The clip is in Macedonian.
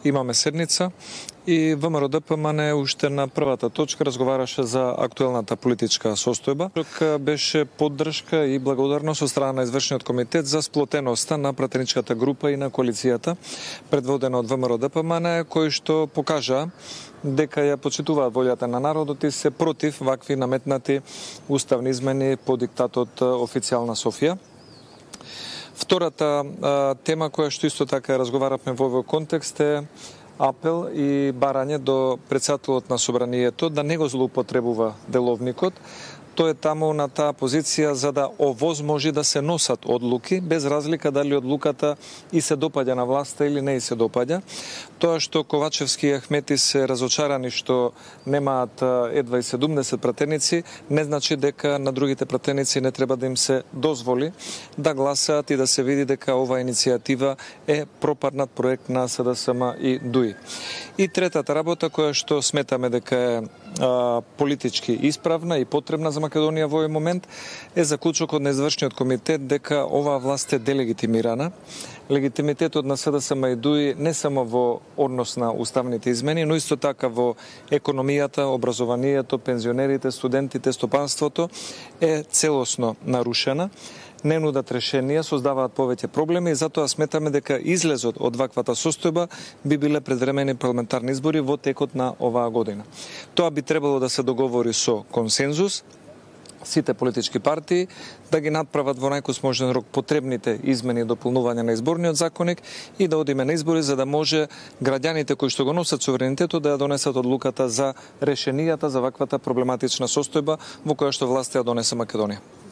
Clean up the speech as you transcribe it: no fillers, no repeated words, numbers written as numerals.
имаме седница и ВМРО ДПМН уште на првата точка разговараше за актуелната политичка состојба. Тук беше поддршка и благодарност од страна на извршниот комитет за сплотеноста на пратеничката група и на коалицијата предводена од ВМРО ДПМН, кој што покажа дека ја почитуваат волјата на народот и се против вакви наметнати уставни измени по диктатот официјална Софија. Втората тема која што исто така разговаравме во овој контекст е апел и барање до председателот на собранието да не го злоупотребува деловникот. Тој е таму на таа позиција за да овозможи да се носат одлуки, без разлика дали одлуката и се допаѓа на власта или не и се допаѓа. Тоа што Ковачевски и Ахмети се разочарани што немаат едва и 70 пратеници, не значи дека на другите пратеници не треба да им се дозволи да гласаат и да се види дека оваа иницијатива е пропаднат проект на СДСМ и ДУИ. И третата работа која што сметаме дека е политички исправна и потребна за Македонија во овој момент е заклучокот на извршниот комитет дека оваа власт е делегитимирана. Легитимитетот на СДСМ и ДУИ не само во однос на уставните измени, но исто така во економијата, образованието, пензионерите, студентите, стопанството е целосно нарушена. Не нудат решенија, создаваат повеќе проблеми и затоа сметаме дека излезот од ваквата состојба би биле предвремени парламентарни избори во текот на оваа година. Тоа би требало да се договори со консензус, сите политички партии да ги надправат во најкосможен рок потребните измени и дополнување на изборниот законник и да одиме на избори за да може граѓаните кои што го носат суверенитетот да ја донесат одлуката за решенијата за ваквата проблематична состојба во која што власта ја донесе Македонија.